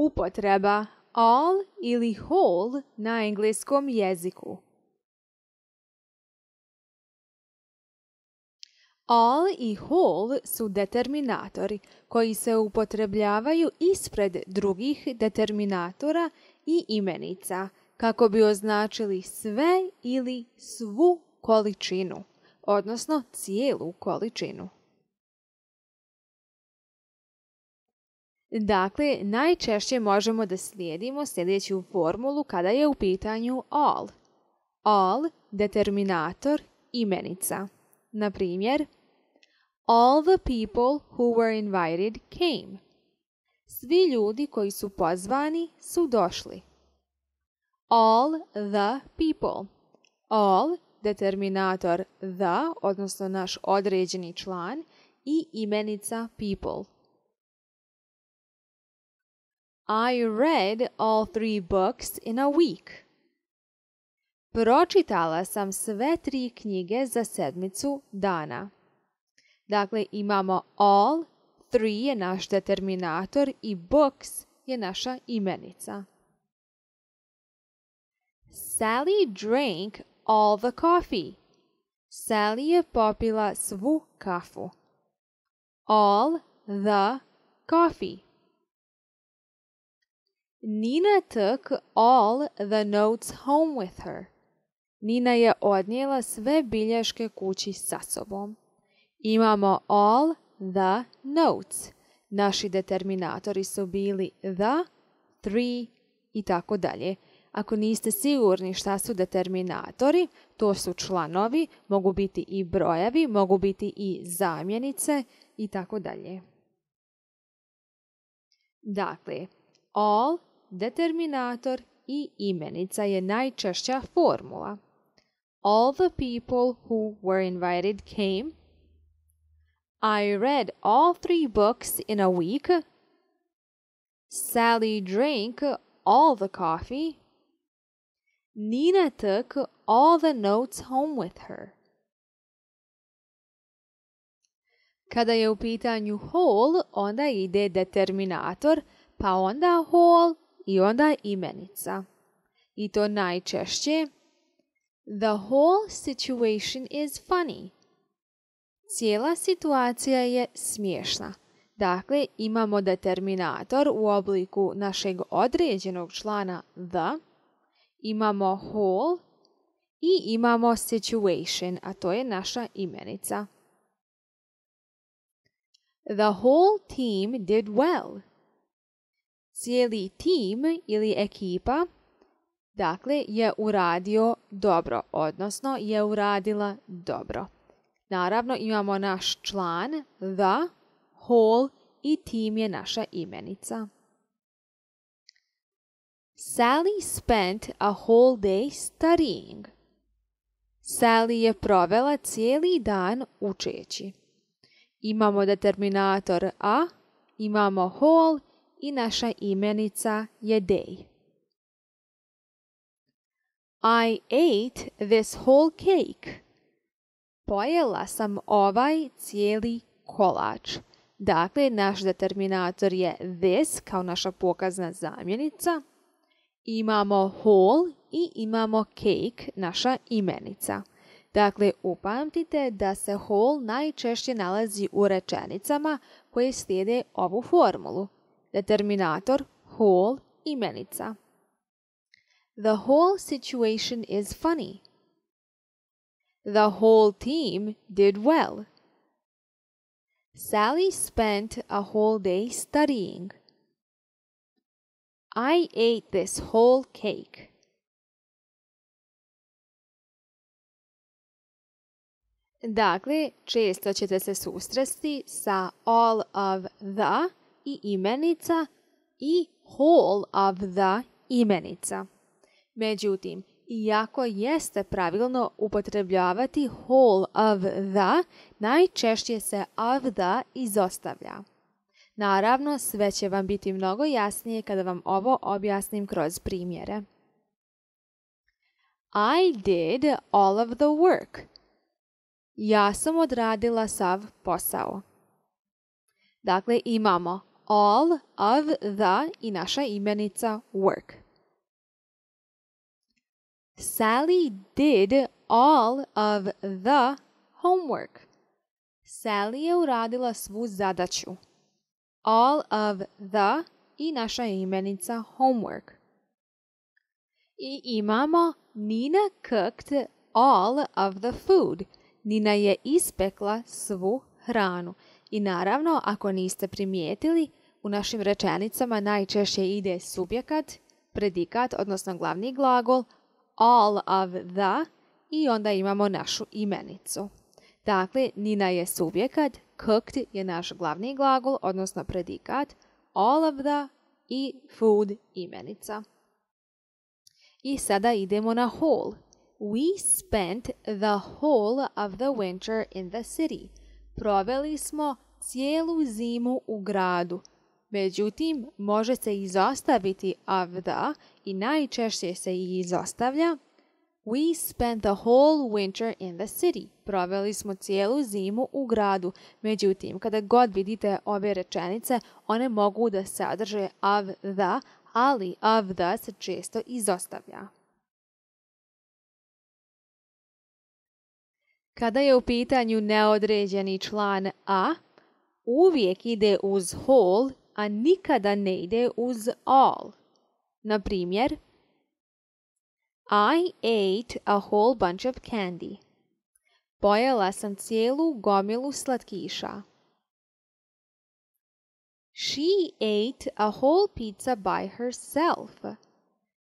Upotreba all ili whole na engleskom jeziku. All i whole su determinatori koji se upotrebljavaju ispred drugih determinatora i imenica kako bi označili sve ili svu količinu, odnosno cijelu količinu. Dakle, najčešće možemo da slijedimo sljedeću formulu kada je u pitanju all. All, determinator, imenica. Na primjer, all the people who were invited came. Svi ljudi koji su pozvani su došli. All the people. All, determinator the, odnosno naš određeni član, i imenica people. I read all 3 books in a week. Pročitala sam sve 3 knjige za sedmicu dana. Dakle, imamo all, 3 je naš determinator i books je naša imenica. Sally drank all the coffee. Sally je popila svu kafu. All the coffee. Nina took all the notes home with her. Nina je odnijela sve bilješke kući sa sobom. Imamo all the notes. Naši determinatori su bili the, 3 i tako dalje. Ako niste sigurni šta su determinatori, to su članovi, mogu biti i brojevi, mogu biti i zamjenice i tako dalje. Dakle, all, determinator i imenica je najčešća formula. All the people who were invited came. I read all 3 books in a week. Sally drank all the coffee. Nina took all the notes home with her. Kada je u pitanju whole, onda ide determinator, pa onda whole i onda imenica. I to najčešće. The whole situation is funny. Cijela situacija je smiješna. Dakle, imamo determinator u obliku našeg određenog člana the, imamo whole i imamo situation, a to je naša imenica. The whole team did well. Cijeli tim ili ekipa, dakle, je uradio dobro, odnosno je uradila dobro. Naravno, imamo naš član, the, whole i tim je naša imenica. Sally spent a whole day studying. Sally je provela cijeli dan učeći. Imamo determinator a, imamo whole i naša imenica je day. I ate this whole cake. Pojela sam ovaj cijeli kolač. Dakle, naš determinator je this kao naša pokazna zamjenica. Imamo whole i imamo cake, naša imenica. Dakle, upamtite da se whole najčešće nalazi u rečenicama koje slijede ovu formulu. Determinator, whole, imenica. The whole situation is funny. The whole team did well. Sally spent a whole day studying. I ate this whole cake. Dakle, često ćete se susresti sa all of the i imenica i whole of the imenica. Međutim, iako jeste pravilno upotrebljavati whole of the, najčešće se of the izostavlja. Naravno, sve će vam biti mnogo jasnije kada vam ovo objasnim kroz primjere. I did all of the work. Ja sam odradila sav posao. Dakle, imamo all of the i naša imenica work. Sally did all of the homework. Sally je uradila svu zadaću. All of the i naša imenica homework. I imamo Nina cooked all of the food. Nina je ispekla svu hranu. I naravno, ako niste primijetili, u našim rečenicama najčešće ide subjekat, predikat, odnosno glavni glagol, all of the i onda imamo našu imenicu. Dakle, Nina je subjekat, cooked je naš glavni glagol, odnosno predikat, all of the i food imenica. I sada idemo na whole. We spent the whole of the winter in the city. Proveli smo cijelu zimu u gradu. Međutim, može se izostaviti of the i najčešće se i izostavlja. We spent the whole winter in the city. Proveli smo cijelu zimu u gradu. Međutim, kada god vidite ove rečenice, one mogu da sadrže of the, ali of the se često izostavlja. Kada je u pitanju neodređeni član a, uvijek ide uz whole, a nikada ne ide uz all. Na primjer, I ate a whole bunch of candy. Pojela sam cijelu gomilu slatkiša. She ate a whole pizza by herself.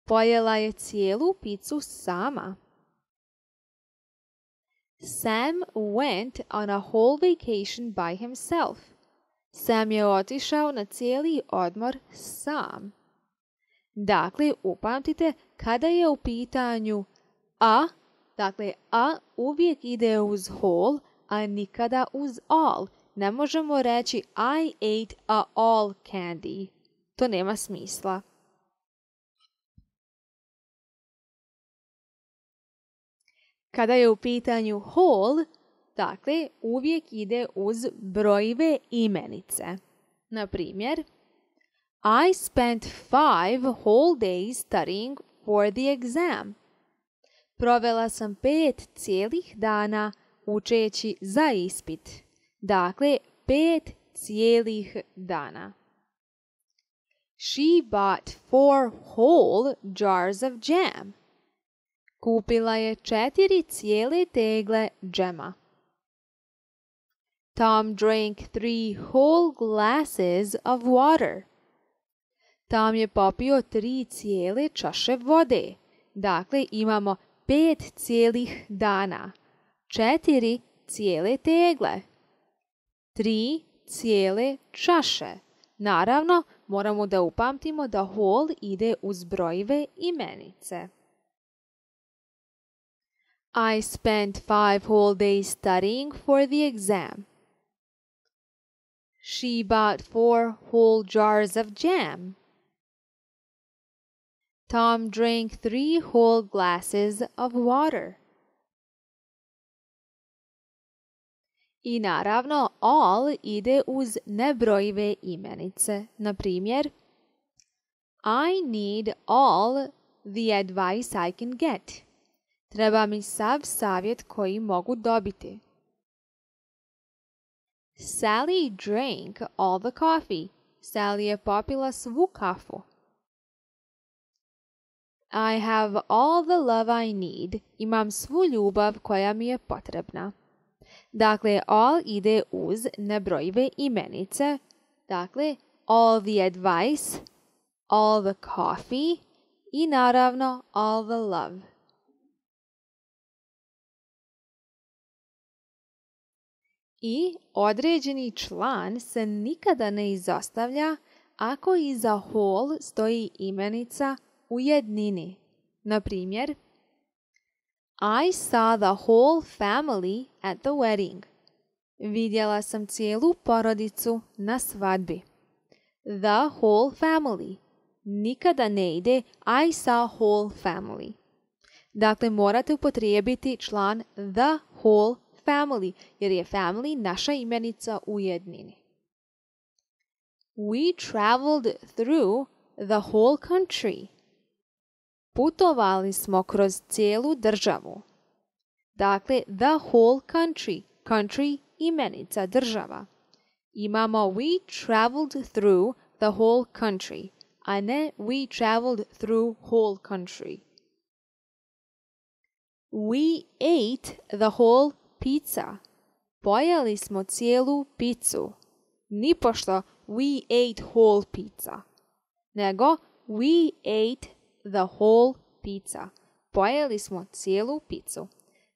Pojela je cijelu picu sama. Sam went on a whole vacation by himself. Sam je otišao na cijeli odmor sam. Dakle, upamtite, kada je u pitanju a, dakle, a uvijek ide uz whole, a nikada uz all. Ne možemo reći I ate a all candy. To nema smisla. Kada je u pitanju whole, dakle, uvijek ide uz brojive imenice. Na primjer, I spent 5 whole days studying for the exam. Provela sam 5 cijelih dana učeći za ispit. Dakle, 5 cijelih dana. She bought 4 whole jars of jam. Kupila je 4 cijele tegle džema. Tom drank 3 whole glasses of water. Tom je popio 3 cijele čaše vode. Dakle, imamo 5 cijelih dana, 4 cijele tegle, 3 cijele čaše. Naravno, moramo da upamtimo da whole ide uz brojive imenice. I spent 5 whole days studying for the exam. She bought 4 whole jars of jam. Tom drank 3 whole glasses of water. I naravno, all ide uz nebrojive imenice. Na primjer, I need all the advice I can get. Treba mi sav savjet koji mogu dobiti. Sally drank all the coffee. Sally je popila svu kafu. I have all the love I need. Imam svu ljubav koja mi je potrebna. Dakle, all ide uz nebrojive imenice. Dakle, all the advice, all the coffee i naravno all the love. I određeni član se nikada ne izostavlja ako iza whole stoji imenica u jednini. Na primjer, I saw the whole family at the wedding. Vidjela sam cijelu porodicu na svadbi. The whole family. Nikada ne ide I saw whole family. Dakle, morate upotrijebiti član the whole family, jer je family naša imenica u jednini. We traveled through the whole country. Putovali smo kroz cijelu državu. Dakle, the whole country. Country imenica država. Imamo we traveled through the whole country, a ne we traveled through whole country. We ate the whole pizza. Pojeli smo cijelu picu. Nipošto we ate whole pizza, nego we ate the whole pizza. Pojeli smo cijelu picu.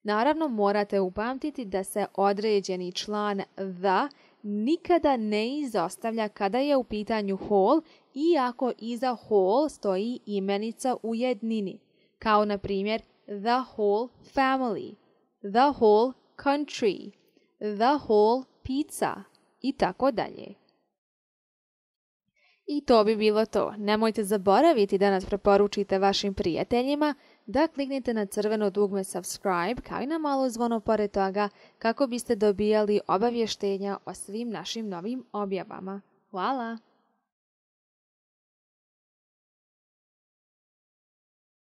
Naravno, morate upamtiti da se određeni član the nikada ne izostavlja kada je u pitanju whole, iako iza whole stoji imenica u jednini, kao na primjer the whole family, the whole country, the whole pizza i tako dalje. I to bi bilo to. Nemojte zaboraviti da nas preporučite vašim prijateljima, da kliknete na crveno dugme subscribe kao i na malo zvono pored toga kako biste dobijali obavještenja o svim našim novim objavama. Hvala!